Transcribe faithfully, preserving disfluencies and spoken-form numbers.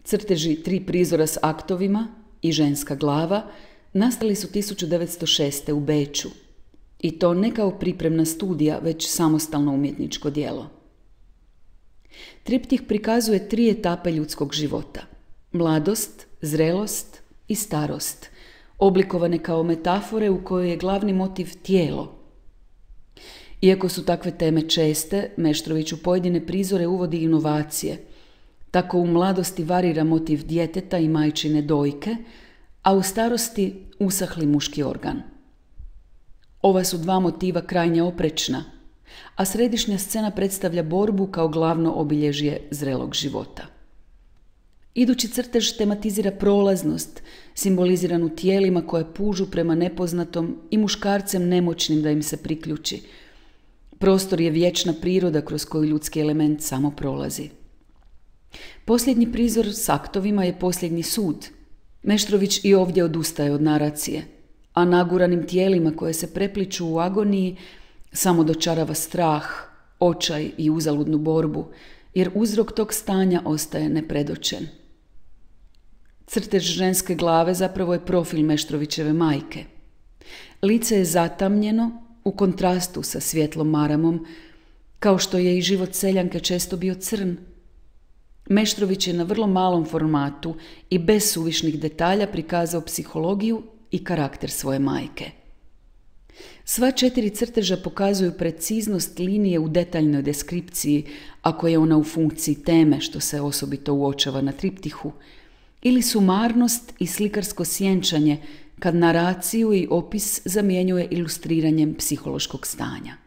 Crteži tri prizora s aktovima i ženska glava nastali su tisuću devetsto šeste. u Beču. I to ne kao pripremna studija, već samostalno umjetničko djelo. Triptih prikazuje tri etape ljudskog života. Mladost, zrelost i starost, oblikovane kao metafore u kojoj je glavni motiv tijelo. Iako su takve teme česte, Meštrović u pojedine prizore uvodi inovacije. Tako u mladosti varira motiv djeteta i majčine dojke, a u starosti usahli muški organ. Ova su dva motiva krajnje oprečna, a središnja scena predstavlja borbu kao glavno obilježje zrelog života. Idući crtež tematizira prolaznost, simboliziranu tijelima koje pužu prema nepoznatom i muškarcem nemoćnim da im se priključi. Prostor je vječna priroda kroz koju ljudski element samo prolazi. Posljednji prizor s aktovima je posljednji sud. Meštrović i ovdje odustaje od naracije, a naguranim tijelima koje se prepliču u agoniji samo dočarava strah, očaj i uzaludnu borbu, jer uzrok tog stanja ostaje nepredočen. Crtež ženske glave zapravo je profil Meštrovićeve majke. Lice je zatamnjeno u kontrastu sa svjetlom maramom, kao što je i život seljanke često bio crn. Meštrović je na vrlo malom formatu i bez suvišnih detalja prikazao psihologiju i karakter svoje majke. Sva četiri crteža pokazuju preciznost linije u detaljnoj deskripciji, ako je ona u funkciji teme, što se osobito uočava na triptihu, ili sumarnost i slikarsko sjenčanje, kad naraciju i opis zamjenjuje ilustriranjem psihološkog stanja.